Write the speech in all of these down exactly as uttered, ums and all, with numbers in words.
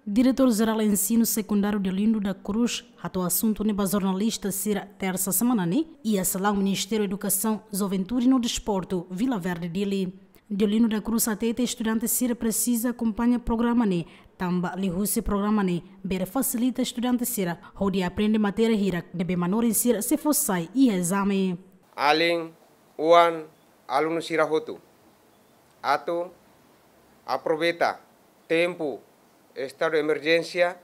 Diretór Jerál Ensinu Sekundáriu Deolindo da Cruz hato'o asuntu ne'e ba jornalista sira tersa semana ne'e iha salaun Ministériu Edukasaun, Juventude no Desportu, Vila Verde, Dili. Deolindo da Cruz hatete estudante sira presiza akompaña programa ne'e, tanba liuhusi programa ne'e bele fasilita estudante sira hodi aprende matéria hirak ne'ebé manorin sira sei fó sai iha ezame. Alin, oan, alunu sira hotu atu aproveita tempu estadu emerjénsia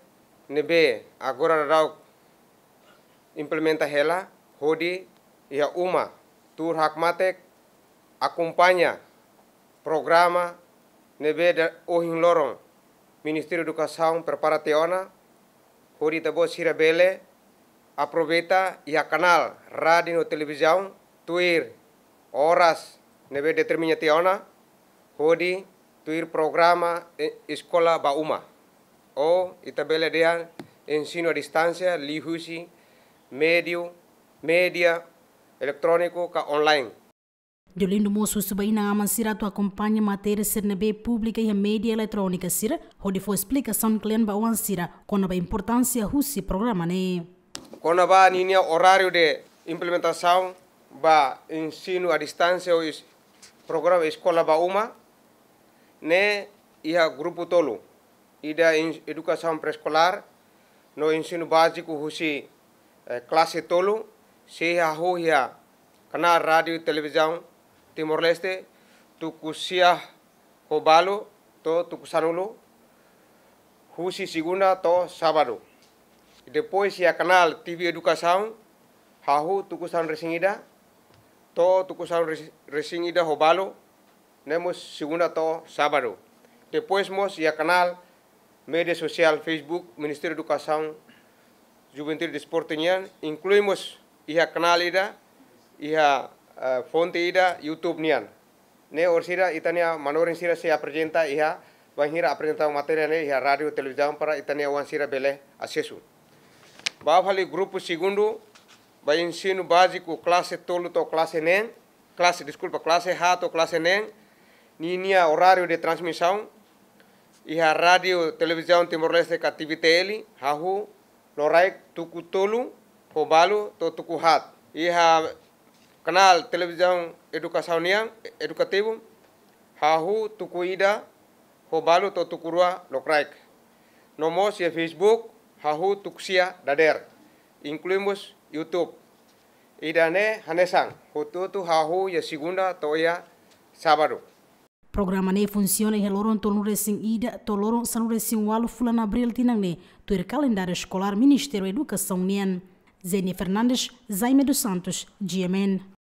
ne'ebé agora daudaun implementa hela, hodi iha uma tuur hakmatek akompaña programa ne'ebé ohin loron Ministériu Edukasaun prepara tiha ona, hodi ita-boot sira bele aproveita iha kanál rádiu no televizaun tuir oras ne'ebé determina tiha ona, hodi tuir programa, eh, Eskola ba Uma. Ou ita bele dehan ensinu à distánsia liuhusi médiu, média eletróniku ka online. Deolindo mós husu ba inan-aman sira atu akompaña matéria sira ne'ebé publika iha média eletrónika sira, hodi fó esplikasaun kle'an ba oan sira kona-ba importánsia husi programa ne'e. Kona-ba ninia oráriu de implementasaun ba ensinu à distánsia ou es-, programa Eskola ba Uma, ne'e iha grupu tolu. Ida en-, edukasaun pré-eskolár no ensinu báziku husi, eh, klase tolu, sei hahú iha kanál rádiu televizaun Timor-Leste, tuku sia ho balu to'o tuku sanulu, husi segunda to'o sábadu. Depois iha kanál T V Edukasaun, hahú tuku sanulu-resin-ida to'o tuku sanulu-resi-, resin-ida ho balu, ne'e mós segunda to'o sábadu. Depois mós iha kanál média sosiál Facebook Ministériu Edukasaun, Juventude no Desportu nian, inklui mós iha kanál ida, iha, eh, fonte ida YouTube nian. Ne'e orsida ita-nia manorin sira sei aprezenta iha, bainhira aprezenta matéria ne'e iha rádiu televizaun para ita-nia oan sira bele asesu. Ba fali grupu segundu, ba ensinu báziku klase tolu to'o klase neen, klase, deskulpa, klase haat to'o klase neen, ninia oráriu de transmisaun iha Rádiu Televizaun Timor-Leste ka T V T L, hahú loraik tuku tolu ho balu to'o tuku haat. Iha kanál televizaun edukasaun nian, edukativu, hahú tuku ida ho balu to'o tuku rua lokraik. No mós iha Facebook, hahú tuku sia dadeer, inklui mós YouTube. Ida-ne'e hanesan, hotu-hotu hahú iha segunda to'o iha sábadu. Programa ne'e funsiona iha loron tolunulu-resin-ida to'o loron sanulu-resin-ualu fulan Abríl tinan ne'e, tuir kalendáriu eskolár Ministériu Edukasaun nian. Zenia Fernandes, Jaime dos Santos, G M N.